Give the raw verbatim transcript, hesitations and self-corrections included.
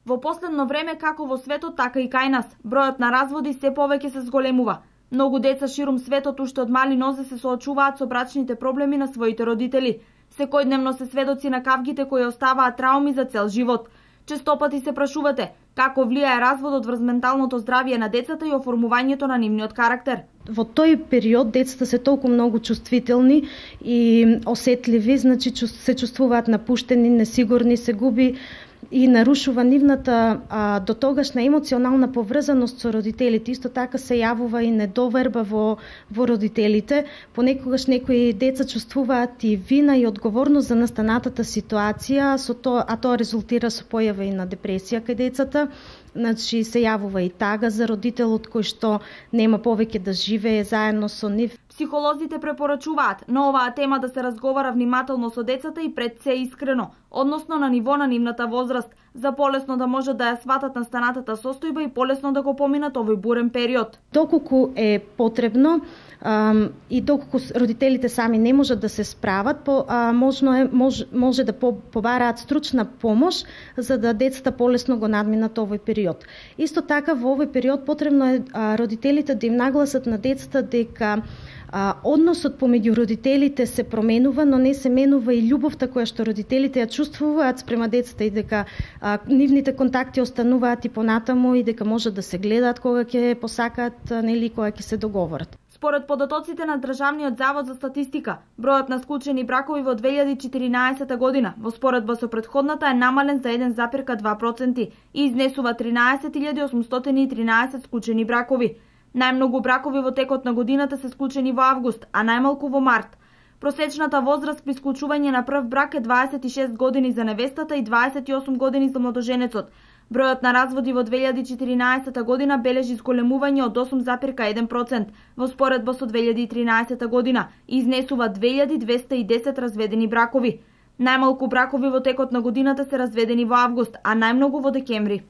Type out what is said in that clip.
Во последно време, како во светот, така и кај нас, бројот на разводи се повеќе се зголемува. Многу деца ширум светот уште од мали нозе се соочуваат со брачните проблеми на своите родители. Секојдневно се сведоци на кавгите кои оставаат трауми за цел живот. Честопати се прашувате како влијае разводот врз менталното здравје на децата и оформувањето на нивниот карактер. Во тој период децата се толку многу чувствителни и осетливи, значи се чувствуваат напуштени, несигурни, се губи и нарушува нивната а, до тогашна емоционална поврзаност со родителите. Исто така се јавува и недоверба во, во родителите. Понекогаш некои деца чувствуваат и вина и одговорност за настанатата ситуација, со то, а тоа резултира со појава и на депресија кај децата. Значи се јавува и тага за родителот кој што нема повеќе да живее заедно со нив. Психолозите препорачуваат на оваа тема да се разговара внимателно со децата и пред се искрено, односно на ниво на нивната возраст, за полесно да може да ја сватат настанатата состојба и полесно да го поминат овој бурен период. Доколку е потребно ам, и доколку родителите сами не можат да се справат, по, а, можно е, мож, може да по, побараат стручна помош за да децата полесно го надминат овој период. Исто така во овој период потребно е а, родителите да им нагласат на децата дека А, односот помеѓу родителите се променува, но не се менува и љубовта која што родителите ја чувствуваат спрема децата и дека а, нивните контакти остануваат и понатаму и дека можат да се гледаат кога ќе посакаат, нели кога ќе се договорат. Според податоците на Државниот завод за статистика, бројот на склучени бракови во две илјади и четиринаесета година во споредба со претходната е намален за еден зарез два проценти и изнесува тринаесет илјади осумстотини и тринаесет склучени бракови. Најмногу бракови во текот на годината се склучени во август, а најмалку во март. Просечната возраст при склучување на прв брак е дваесет и шест години за невестата и дваесет и осум години за младоженецот. Бројот на разводи во две илјади и четиринаесета година бележи зголемување од осум зарез еден проценти во споредба со две илјади и тринаесета година и изнесува две илјади двесте и десет разведени бракови. Најмалку бракови во текот на годината се разведени во август, а најмногу во декември.